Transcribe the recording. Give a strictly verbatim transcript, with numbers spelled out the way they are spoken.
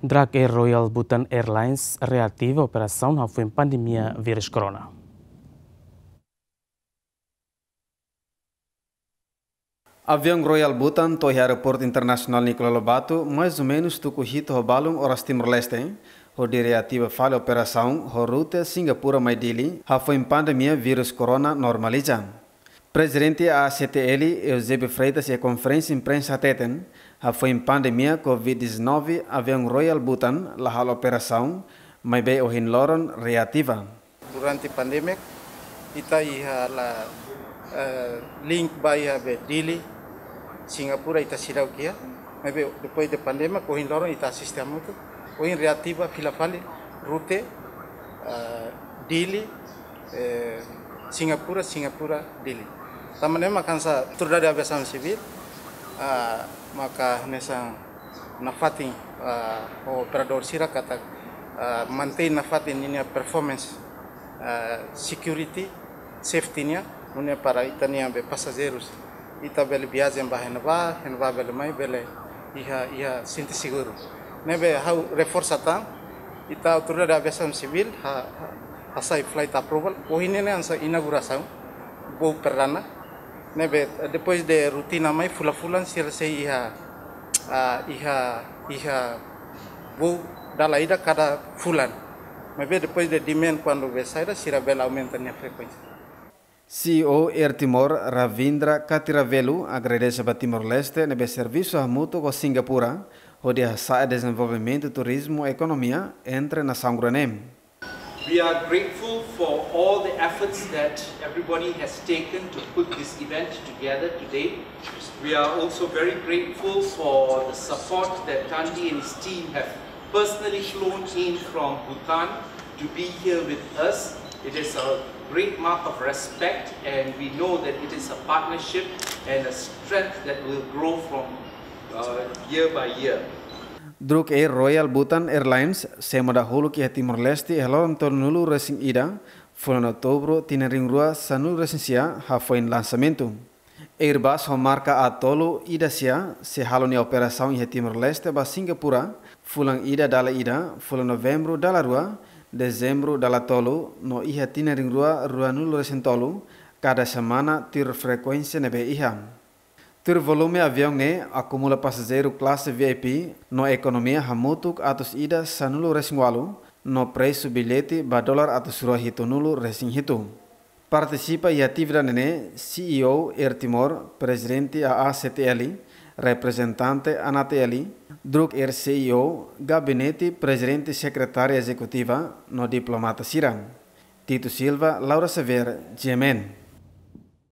Druk Air Royal Bhutan Airlines reativa operasaun hafoin pandemia vírus corona. Aviaun Royal Bhutan to'o iha Aeroportu Internasionál Nicolau Lobato, mais ou menus tuku hitu ho balun oras Timor-Leste, hodi reativa fali operasaun ho rute Singapura mai Dili, hafoin pandemia vírus corona normaliza. Prezidente A A C T L, Eusébio Freitas, iha konferénsia imprensa hateten, hafoin pandemia covid dezanove, aviaun Royal Bhutan la halo operasaun, maibé ohin loron reativa. Durante pandemia, ita iha la, eh, link ba iha be Dili, Singapura ita seidauk iha. Maibé depois de pandemia, ohin loron ita asiste hamutuk. Ohin reativa fila fali rute, eh, Dili, eh, Singapura, Singapura, Dili. Tanba ne'e mak hanesan Autoridade Aviasaun Sivíl, ah, maka hanesan nafatin, ah, ho operadór sira katak, ah, mantein nafatin ninia performance, ah, security, safety nian, nune'e para ita-nia be pasajeirus, ita bele viajen ba iha ne'ebá, iha ne'ebá bele mai, bele iha, iha sente seguru. Ne'ebé ha'u reforsa tan, ita Autoridade Aviasaun Sivíl ha, ha, hasai flight approval, ohin ne'e hanesan inaugurasaun voo perdana. Ne'ebé, depois de rutina mai fulan-fulan sira sei iha, ah, iha, iha voo dala ida kada fulan. Maibé depois de demand kuandu be saida, sira bele aumenta nia frekuénsia. C E O Air Timor, Ravindra Katiravelu, agradese ba Timor-Leste ne'ebé servisu hamutuk ho Singapura, hodi hasa'e dezenvolvimentu turizmu ekonomia entre nasaun grande. We are grateful for all the efforts that everybody has taken to put this event together today. We are also very grateful for the support that Tandi and his team have personally flown in from Bhutan to be here with us. It is a great mark of respect, and we know that it is a partnership and a strength that will grow from, uh, year by year. Druk Air Royal Bhutan Airlines sei muda uluk iha Timor-Leste iha loron tolunulu resin ida, fulan Outubru, tinan rihun rua sanulu resin sia, hafoin lansamentu. Airbus ho marka A tolu ida sia sei halo nia operasaun iha Timor-Leste ba Singapura, fulan ida dala ida, fulan Novembru dala rua, Dezembru dala tolu, no iha tinan rihun rua ruanulu resin tolu, kada semana tuir frekuénsia ne'ebé iha. Tuir volume aviaun ne'e akumula pasajeiru klase V I P no ekonomia hamutuk atus ida sanulu resin ualu, no presu billete ba dolar atus rua hitunulu resin hitu. Partisipa iha atividade ne'e C E O Air Timor, Prezidente A A C T L, reprezentante ANATL, Druk Air C E O, Gabinete Prezidente, Sekretária Ezekutiva, no diplomata sira. Tito Silva, Laura Xavier, G M N.